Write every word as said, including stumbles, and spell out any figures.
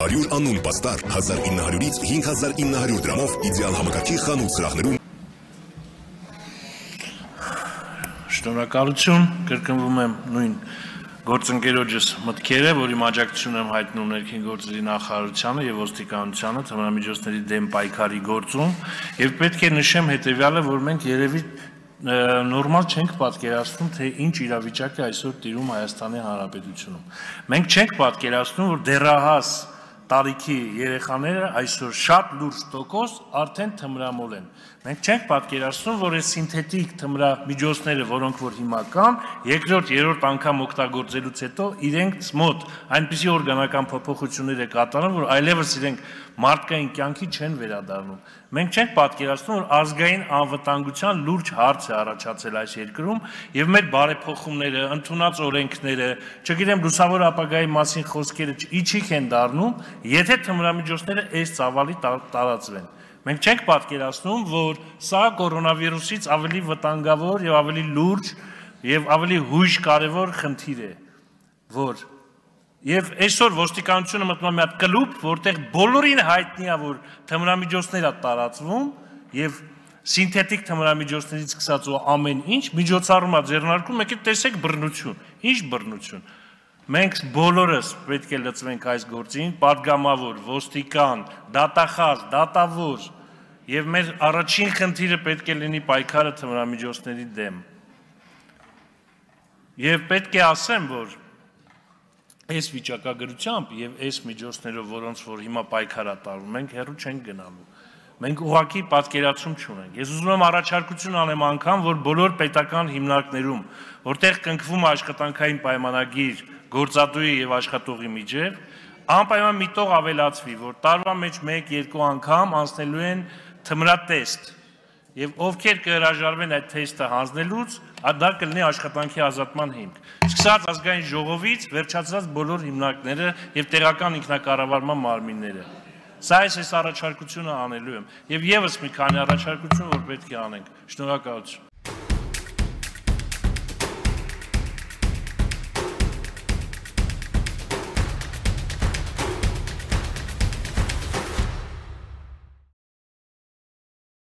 հարյուր անուն պաստար հազար ինը հարյուրից հինգ հազար ինը հարյուր դրամով իդեալ համակարգի խանութ սրահներում։ Շնորհակալություն, կրկնվում եմ նույն գործընկերոջս մտքերը, որի աջակցություն եմ հայտնում ներքին գործերի նախարարությանը եւ ոստիկանությանը թմրամիջոցների դեմ պայքարի գործում եւ պետք է նշեմ հետեւյալը, որ մենք երևի նորմալ չենք պատկերացնում, թե ինչ իրավիճակ է այսօր տիրում Հայաստանի Հանրապետությունում։ Մենք չենք պատկերացնում, որ դեռահաս տարիքի երեխաները այսօր շատ լուրջ տոկոս արդեն թմրամոլ են։ Մենք չենք պատկերացնում, որ այս սինթետիկ թմրամիջոցները, որոնք որ հիմա կան, երկրորդ, երրորդ անգամ օգտագործելուց հետո իրենք մոտ այնպիսի օրգանական փոփոխություններ է կատարում, որ այլևս իրենք մարդկային կյանքի չեն վերադառնում։ Մենք չենք պատկերացնում, որ ազգային անվտանգության լուրջ հարց է առաջացել այս երկրում եւ մեր բարեփոխումները, ընդունած օրենքները, չգիտեմ, լուսավոր ապագայի մասին խոսքերը իջիկ են դառնում, եթե թմրամիջոցները այս ծավալի տարածվեն։ Մենք չենք պատկերացնում, որ սա կորոնավիրուսից ավելի վտանգավոր եւ ավելի լուրջ եւ ավելի հույժ կարեւոր խնդիր է, որ եւ այսօր ոստիկանությունը մտնում է մի հատ կլուբ, որտեղ բոլորին հայտնի է, որ թմրամիջոցներ է տարածվում եւ սինթետիկ թմրամիջոցներից սկսած ու ամեն ինչ միջոցառում է ձեռնարկում, եկեք տեսեք բռնություն, ինչ բռնություն։ Մենք բոլորս պետք է լծվենք այս գործին, պատգամավոր, ոստիկան, դատախազ, դատավոր եւ մեր առաջին խնդիրը պետք է լինի պայքարը թմրամիջոցների դեմ։ Եվ պետք է ասեմ, որ այս վիճակագրությամբ եւ այս միջոցներով, որոնց որ հիմա պայքար է տարվում, մենք հեռու չենք գնալու։ Մենք ուղղակի պատկերացում չունենք։ Ես ուզում եմ առաջարկություն անեմ անգամ, որ բոլոր պետական հիմնարկներում, որտեղ կնքվում է աշխատանքային պայմանագիր գործատուի եւ աշխատողի միջև, անպայման միտող ավելացվի, որ տարվա մեջ մեկ-երկու անգամ անցնելու են թմրատեստ եւ ովքեր կհրաժարվեն այդ թեստը հանձնելուց, դա կլինի աշխատանքի ազատման հիմք։ Սկսած ազգային ժողովից վերջացած բոլոր հիմնարկները եւ տեղական ինքնակառավարման մարմինները։ Սա այս առաջարկությունը անելու եմ եւ եւս մի քանի առաջարկություն, որ պետք է անենք։ Շնորհակալություն։